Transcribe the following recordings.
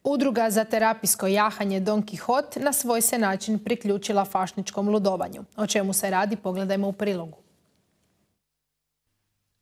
Udruga za terapijsko jahanje Don Quixote na svoj se način priključila fašničkom ludovanju. O čemu se radi, pogledajmo u prilogu.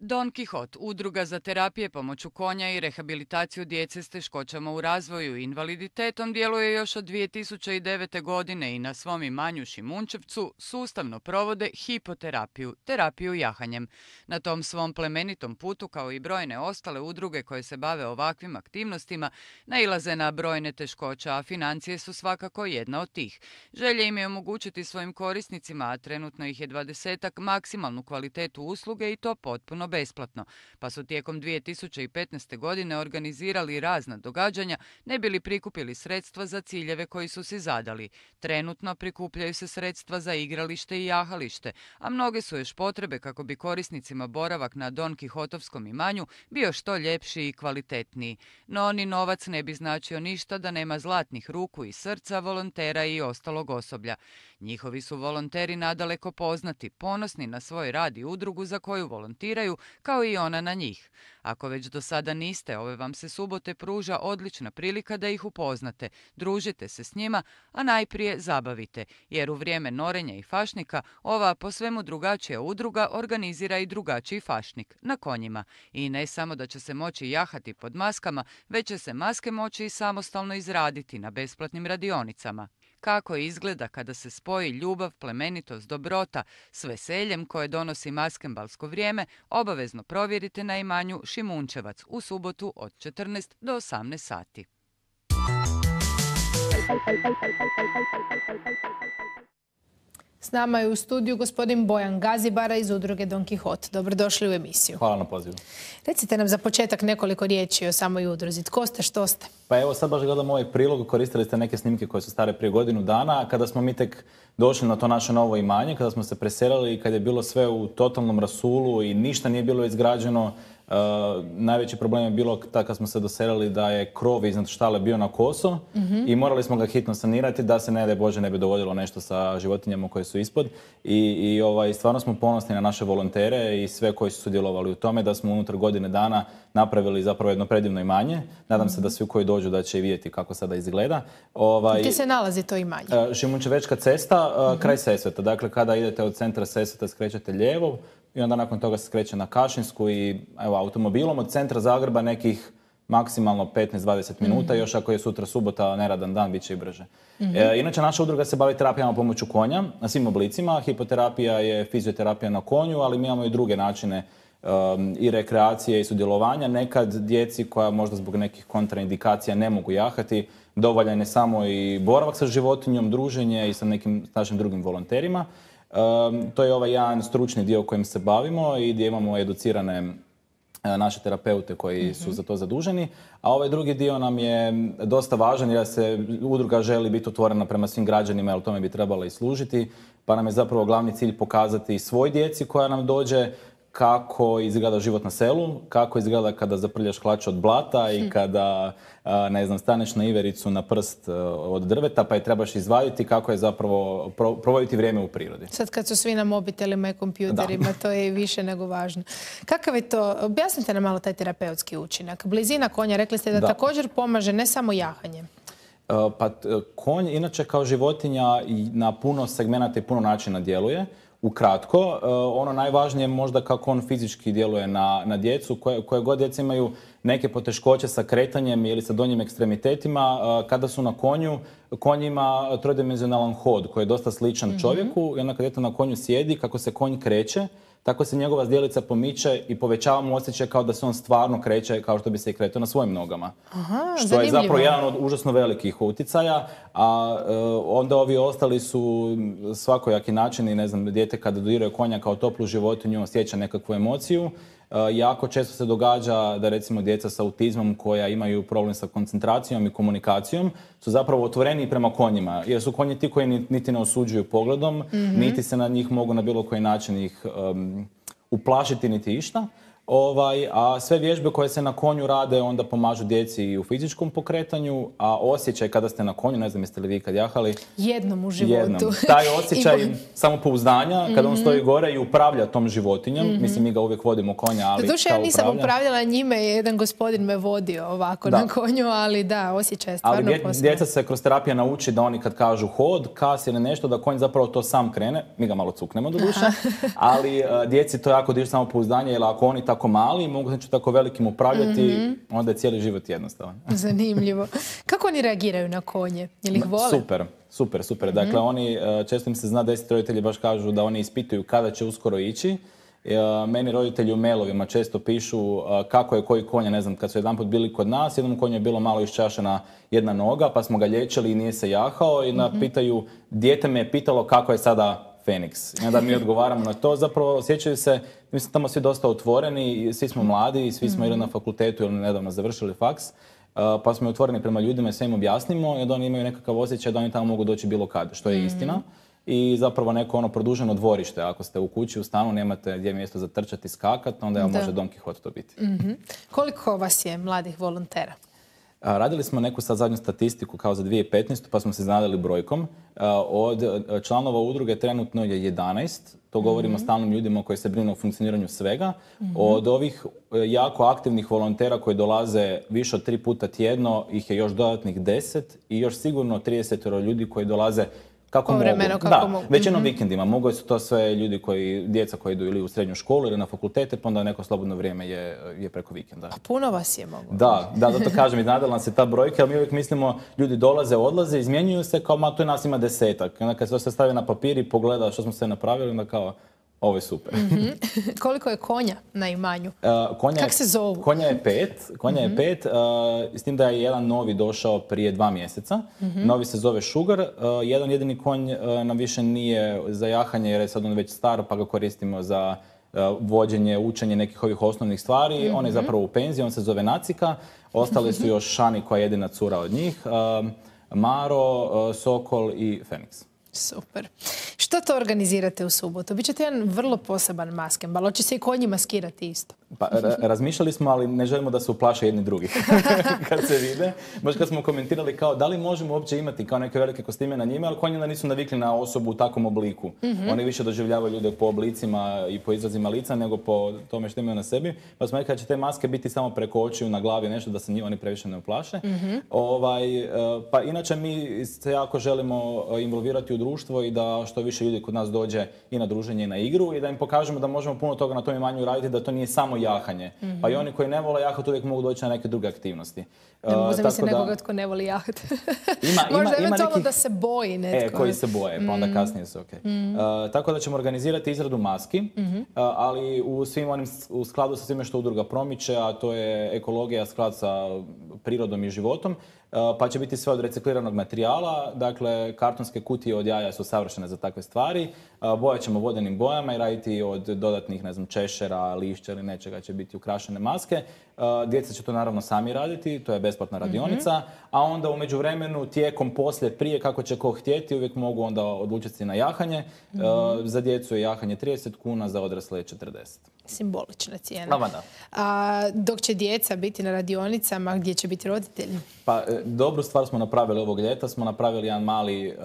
Don Quixote, udruga za terapije pomoću konja i rehabilitaciju djece s teškoćama u razvoju i invaliditetom, djeluje još od 2009. godine i na svom imanju Šimunčevcu sustavno provode hipoterapiju, terapiju jahanjem. Na tom svom plemenitom putu, kao i brojne ostale udruge koje se bave ovakvim aktivnostima, nailaze na brojne teškoće, a financije su svakako jedna od tih. Želja im je omogućiti svojim korisnicima, a trenutno ih je 20-ak, maksimalnu kvalitetu usluge i to potpuno besplatno, pa su tijekom 2015. godine organizirali razna događanja ne bi li prikupili sredstva za ciljeve koji su si zadali. Trenutno prikupljaju se sredstva za igralište i jahalište, a mnoge su još potrebe kako bi korisnicima boravak na Don Quijotovskom imanju bio što ljepši i kvalitetniji. No ni novac ne bi značio ništa da nema zlatnih ruku i srca volontera i ostalog osoblja. Njihovi su volonteri nadaleko poznati, ponosni na svoj rad i udrugu za koju volontiraju, kao i ona na njih. Ako već do sada niste, ove vam se subote pruža odlična prilika da ih upoznate, družite se s njima, a najprije zabavite, jer u vrijeme norenja i fašnika ova po svemu drugačija udruga organizira i drugačiji fašnik, na konjima. I ne samo da će se moći jahati pod maskama, već će se maske moći i samostalno izraditi na besplatnim radionicama. Kako izgleda kada se spoji ljubav, plemenitost, dobrota s veseljem koje donosi maskembalsko vrijeme, obavezno provjerite na imanju Šimunčevac u subotu od 14 do 18 sati. S nama je u studiju gospodin Bojan Gazibara iz udruge Don Quixote. Dobrodošli u emisiju. Hvala na pozivu. Recite nam za početak nekoliko riječi o samoj udruzi. Tko ste, što ste? Pa evo sad baš gledam ovaj prilog, koristili ste neke snimke koje su stare prije godinu dana, kada smo mi tek došli na to naše novo imanje, kada smo se preselili i kad je bilo sve u totalnom rasulu i ništa nije bilo izgrađeno. Najveći problem je bilo kad smo se doselili da je krov iznad štale bio na koso i morali smo ga hitno sanirati da se ne daj Bože ne bi dogodilo nešto sa životinjama koje su ispod. I stvarno smo ponosni na naše volontere i sve koji su sudjelovali u tome da smo unutar godine dana napravili zapravo jedno predivno imanje. Nadam se da svi koji dođu da će i vidjeti kako sada izgleda. Gdje se nalazi to imanje? Šimunčevečka cesta, kraj Sesveta. Dakle, kada idete od centra Sesveta skrećete lijevo, i onda nakon toga se skreće na Kašinsku i evo, automobilom od centra Zagreba nekih maksimalno 15-20 minuta, još ako je sutra subota, neradan dan, bit će i brže. Inače, naša udruga se bavi terapijama pomoću konja, na svim oblicima. Hipoterapija je fizioterapija na konju, ali mi imamo i druge načine i rekreacije i sudjelovanja. Nekad djeci koja možda zbog nekih kontraindikacija ne mogu jahati, dovoljan je samo i boravak sa životinjom, druženje i sa nekim našim drugim volonterima. To je ovaj jedan stručni dio kojim se bavimo i gdje imamo educirane naše terapeute koji su za to zaduženi. A ovaj drugi dio nam je dosta važan jer se udruga želi biti otvorena prema svim građanima, jer tome bi trebala i služiti. Pa nam je zapravo glavni cilj pokazati svoj djeci koja nam dođe kako izgleda život na selu, kako izgleda kada zaprljaš hlač od blata i kada, ne znam, staneš na ivericu na prst od drveta pa je trebaš izvaditi, kako je zapravo provoditi vrijeme u prirodi. Sad kad su svi na mobitelima i kompjuterima, to je više nego važno. Kakav je to? Objasnite nam malo taj terapeutski učinak. Blizina konja, rekli ste da također pomaže ne samo jahanje. Pa konj inače kao životinja na puno segmenata i puno načina djeluje. Ukratko, ono najvažnije je možda kako on fizički djeluje na djecu, koje god djeca imaju neke poteškoće sa kretanjem ili sa donjim ekstremitetima. Kada su na konju, konj ima trodimenzionalan hod koji je dosta sličan čovjeku i onda kad djete na konju sjedi, kako se konj kreće, tako se njegova zdjelica pomiče i povećava mu osjećaj kao da se on stvarno kreće kao što bi se i kretao na svojim nogama. Što je zapravo jedan od užasno velikih utjecaja, a onda ovi ostali su svakojaki načini, ne znam, dijete kada dodiruje konja kao toplu životinju osjeća nekakvu emociju. Jako često se događa da recimo djeca sa autizmom koja imaju problem sa koncentracijom i komunikacijom su zapravo otvoreni prema konjima, jer su konji ti koji niti ne osuđuju pogledom, niti se na njih mogu na bilo koji način ih uplašiti niti išta. A sve vježbe koje se na konju rade onda pomažu djeci i u fizičkom pokretanju, a osjećaj kada ste na konju, ne znam jeste li vi kad jahali? Jednom u životu. Jednom. Taj osjećaj samopouzdanja, kada on stoji gore i upravlja tom životinjom, mislim mi ga uvijek vodimo konja, ali Doduše, ja nisam upravljala njime, jedan gospodin me vodio ovako na konju, ali da, osjećaj je stvarno posebno. Ali djeca se kroz terapiju nauči da oni kad kažu hod, kas ili nešto, da konj zapravo to sam krene, mi ga malo cuknemo do duše, ali djeci to jako diže samopouzdanje, jer ako oni tako mali, mogu znači tako velikim upravljati, onda je cijeli život jednostavan. Zanimljivo. Kako oni reagiraju na konje? Jel ih vole? Super. Dakle, oni, često im se zna desiti, roditelji baš kažu da oni ispituju kada će uskoro ići. Meni roditelji u mailovima često pišu kako je koji konj, ne znam, kad su jedanput bili kod nas, jednom konju je bilo malo iščašena jedna noga, pa smo ga liječili i nije se jahao i pitaju, dijete me je pitalo kako je sada Feniks. I onda mi odgovaramo na to. Zapravo osjećaju se, mi smo tamo svi dosta otvoreni, svi smo mladi, svi smo ili na fakultetu ili nedavno završili faks, pa smo otvoreni prema ljudima i sve im objasnimo i onda oni imaju nekakav osjećaj da oni tamo mogu doći bilo kad, što je istina. I zapravo neko produženo dvorište. Ako ste u kući, u stanu, nemate gdje mjesto za trčati i skakati, onda može Don Quixote to biti. Koliko vas je mladih volontera? Radili smo neku sad zadnju statistiku kao za 2015. pa smo se iznenadili brojkom. Od članova udruge trenutno je 11. To govorimo o stalnim ljudima koji se brinu o funkcioniranju svega. Od ovih jako aktivnih volontera koji dolaze više od 3 puta tjedno, ih je još dodatnih 10 i još sigurno 30 ljudi koji dolaze kako mogu. Većinom vikendima. Mogu su to sve ljudi djeca koji idu ili u srednju školu ili na fakultete, pa onda neko slobodno vrijeme je preko vikenda. A puno vas je mogu. Da, zato kažem, iznenadila nas se ta brojka, ali mi uvijek mislimo, ljudi dolaze, odlaze, izmjenjuju se, kao tu nas ima 10. Onda kad se to sve stavi na papir i pogleda što smo sve napravili, onda kao, ovo je super. Koliko je konja na imanju? Kako se zovu? Konja je 5, s tim da je jedan novi došao prije 2 mjeseca. Novi se zove Sugar. Jedan jedini konj nam više nije za jahanje jer je sad on već star pa ga koristimo za vođenje, učenje nekih ovih osnovnih stvari. On je zapravo u penziji, on se zove Nacika. Ostale su još Šani koja je jedina cura od njih, Maro, Sokol i Feniks. Super. Što to organizirate u subotu? Bićete jedan vrlo poseban maskembal. Hoće se i konji maskirati isto? Pa, razmišljali smo, ali ne želimo da se uplaše jedni drugih kad se vide. Baš kad smo komentirali kao da li možemo uopće imati kao neke velike kostime na njima, ali konji onda nisu navikli na osobu u takvom obliku. Oni više doživljavaju ljude po oblicima i po izrazima lica nego po tome što imaju na sebi. Pa smo rekli da će te maske biti samo preko očiju, na glavi, nešto da se oni previše ne uplaše. Pa inače mi se jako želimo involvirati u društvo i da što više ljudi kod nas dođe i na druženje i na igru i da im pokažemo da možemo puno toga na tom imanju raditi, da to nije samo jahanje. Pa i oni koji ne vole jahati uvijek mogu doći na neke druge aktivnosti. Ne mogu zamisliti nekoga tko ne voli jahati. Možda eventualno da se boji netko. Koji se boje, pa onda kasnije su okej. Tako da ćemo organizirati izradu maski, ali u skladu sa svime što udruga promiče, a to je ekologija, sklad sa prirodom i životom. Pa će biti sve od recikliranog materijala, dakle kartonske kutije od jaja su savršene za takve stvari. Bojat ćemo vodenim bojama i raditi od dodatnih, ne znam, češera, lišća ili nečega će biti ukrašene maske. Djeca će to naravno sami raditi, to je besplatna radionica, a onda u međuvremenu, tijekom, poslije, prije, kako će ko htjeti, uvijek mogu onda odlučiti se na jahanje. Za djecu je jahanje 30 kuna, za odrasle je 40. Simbolična cijena. A dok će djeca biti na radionicama, gdje će biti roditelji? Pa, dobru stvar smo napravili ovog ljeta. Smo napravili jedan mali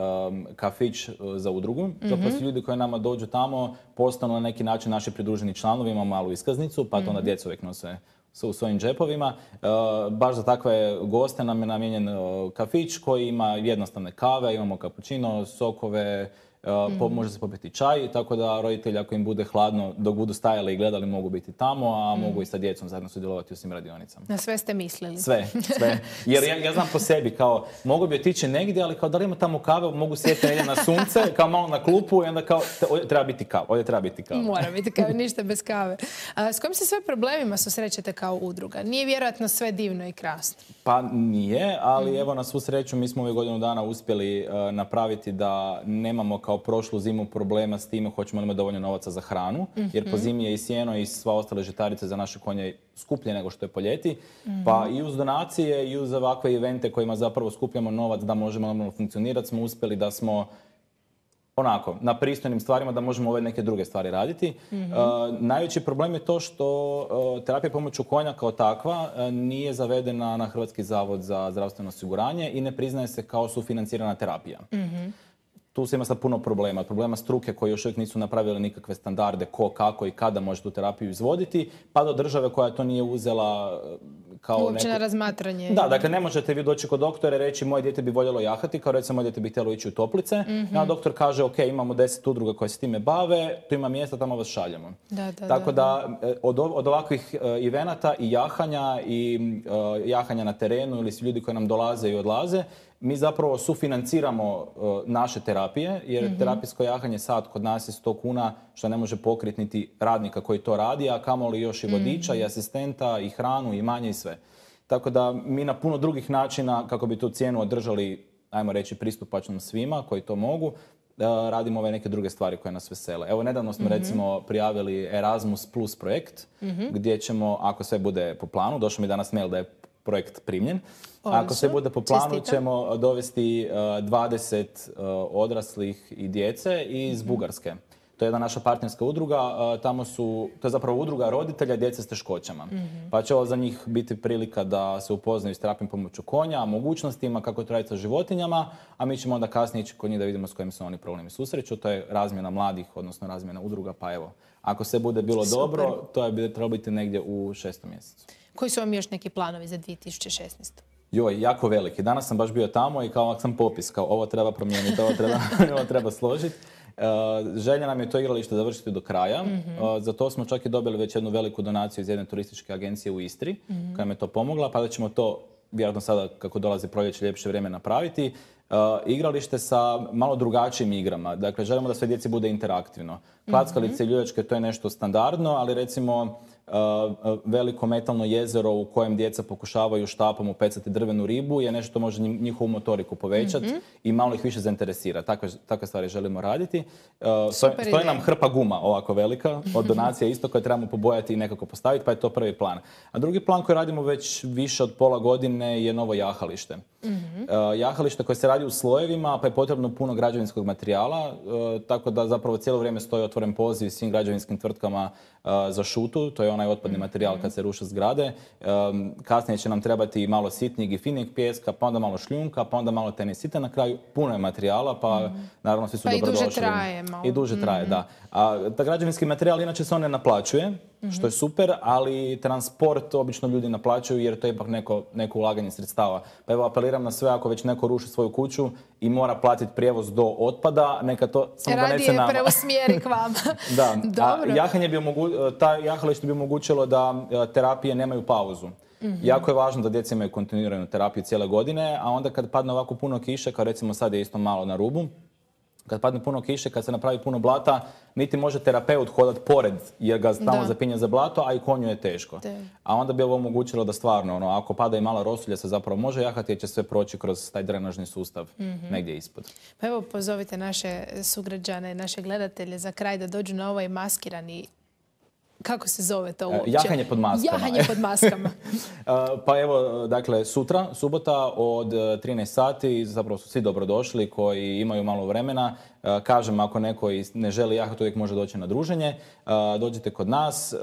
kafić za udrugu. Zapravo su ljudi koji nama dođu tamo, postanu na neki način naši pridruženi članovi, imamo malu iskaznicu, pa to onda djeca uvijek nose u svojim džepovima. Baš za takve goste nam je namijenjen kafić koji ima jednostavne kave, imamo kapućino, sokove, može se popiti čaj, tako da roditelji ako im bude hladno dok budu stajali i gledali mogu biti tamo, a mogu i sa djecom zajedno sudjelovati u svim radionicama. Na sve ste mislili? Sve. Jer ja znam po sebi, kao mogu bi otići negdje, ali kao da li ima tamo kave, mogu sjeti negdje na sunce, kao malo na klupu i onda kao ovdje treba biti kava. Mora biti kava, ništa bez kave. S kojim se sve problemima susrećete kao udruga? Nije vjerojatno sve divno i krasno? Pa nije, ali evo na svu sreću mi smo ove godinu dana uspjeli napraviti da nemamo kao prošlu zimu problema s time hoćemo li imati dovoljno novaca za hranu, jer po zimi je i sjeno i sva ostale žitarice za naše konje skuplje nego što je po ljeti. Pa i uz donacije i uz ovakve evente kojima zapravo skupljamo novac da možemo normalno funkcionirati smo uspjeli da smo onako, na pristojnim stvarima da možemo ove neke druge stvari raditi. Najveći problem je to što terapija pomoću konja kao takva nije zavedena na Hrvatski zavod za zdravstveno osiguranje i ne priznaje se kao sufinancirana terapija. Tu se ima sad puno problema. Problema struke koji još uvijek nisu napravili nikakve standarde ko, kako i kada može tu terapiju izvoditi, pa do države koja to nije uzela kao uopće na razmatranje. Da, dakle ne možete vi doći kod doktora i reći moje dijete bi voljelo jahati, kao recimo moje dijete bi htjelo ići u toplice. A doktor kaže ok, imamo 10 udruga koje se time bave, tu ima mjesta, tamo vas šaljemo. Tako da od ovakvih evenata i jahanja na terenu ili su ljudi koji nam dolaze i odlaze, mi zapravo sufinanciramo naše terapije, jer terapijsko jahanje sad kod nas je 100 kuna, što ne može pokriti niti radnika koji to radi, a kamoli još i vodiča i asistenta i hranu i manje i sve. Tako da mi na puno drugih načina, kako bi tu cijenu održali, ajmo reći, pristupačnom svima koji to mogu, radimo ove neke druge stvari koje nas vesele. Evo, nedavno smo recimo prijavili Erasmus Plus projekt, gdje ćemo, ako sve bude po planu, došao mi danas mail da je projekt primljen. Ako se bude po planu, ćemo dovesti 20 odraslih i djece iz Bugarske. To je jedna naša partnerska udruga. To je zapravo udruga roditelja djece s teškoćama. Pa će ovo za njih biti prilika da se upoznaju s terapijom pomoću konja, mogućnostima kako to raditi sa životinjama, a mi ćemo onda kasnije ići kod njih da vidimo s kojim se oni problemi susreću. To je razmjena mladih, odnosno razmjena udruga, pa evo. Ako se bude bilo dobro, to je trebalo biti negdje u 6. mjesecu. Koji su vam još neki planovi za 2016? Joj, jako veliki. Danas sam baš bio tamo i kao sam popis, kao ovo treba promijeniti, ovo treba složiti. Želja nam je to igralište završiti do kraja. Za to smo čak i dobili već jednu veliku donaciju iz jedne turističke agencije u Istri, koja nam je to pomogla, pa da ćemo to, vjerojatno sada kako dolazi proljeće, ljepše vrijeme napraviti. Igralište sa malo drugačijim igrama. Dakle, želimo da sve djeci bude interaktivno. Klackalice i ljuljačke, to je nešto standardno, ali recimo veliko metalno jezero u kojem djeca pokušavaju štapom upecati drvenu ribu je nešto što može njihovu motoriku povećati i malo ih više zainteresira. Takve stvari želimo raditi. Stoji nam hrpa guma ovako velika od donacija isto koje trebamo pobojati i nekako postaviti, pa je to prvi plan. A drugi plan koji radimo već više od pola godine je novo jahalište. Jahalište koje se radi u slojevima, pa je potrebno puno građevinskog materijala, tako da zapravo cijelo vrijeme stoji otvoren poziv svim građevinskim tvrtkama za šutu, to je onaj otpadni materijal kad se ruše zgrade. Kasnije će nam trebati malo sitnijeg i finijeg pijeska, pa onda malo šljunka, pa onda malo tenisita. Na kraju puno je materijala, pa naravno svi su dobrodošli. Pa i duže traje malo. I duže traje, da. A ta građevinski materijal inače se on ne naplaćuje, što je super, ali transport obično ljudi naplaćuju jer to je ipak neko ulaganje sredstava. Pa evo apeliram na sve, ako već neko ruši svoju kuću i mora platiti prijevoz do otpada, neka to samo donese nama. Radije preusmjeri k vama. Da, ta jahalište bi omogućilo da terapije nemaju pauzu. Jako je važno da djeca imaju kontinuiranu terapiju cijele godine, a onda kad padne ovako puno kiše, kao recimo sad je isto malo na rubu, kad padne puno kiše, kad se napravi puno blata, niti može terapeut hodati pored jer ga stalno zapinje za blato, a i konju je teško. A onda bi ovo omogućilo da stvarno, ako pada i mala rosulja se zapravo može jahati jer će sve proći kroz taj drenažni sustav negdje ispod. Pa evo pozovite naše sugrađane, naše gledatelje za kraj da dođu na ovaj maskirani. Kako se zove to uopće? Jahanje pod maskama. Jahanje pod maskama. Pa evo, dakle, sutra, subota od 13 sati, zapravo su svi dobrodošli koji imaju malo vremena. Kažem, ako neko ne želi jahati, uvijek može doći na druženje. Dođite kod nas.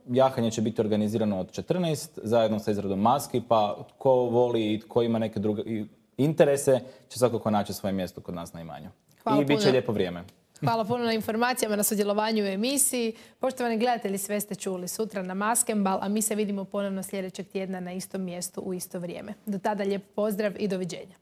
Jahanje će biti organizirano od 14, zajedno sa izradom maski, pa ko voli i ko ima neke druge interese, će svakako naći svoje mjesto kod nas na imanju. I bit će lijepo vrijeme. Hvala puno na informacijama, na sudjelovanju u emisiji. Poštovani gledatelji, sve ste čuli sutra na Maskenbal, a mi se vidimo ponovno sljedećeg tjedna na istom mjestu u isto vrijeme. Do tada lijep pozdrav i doviđenja.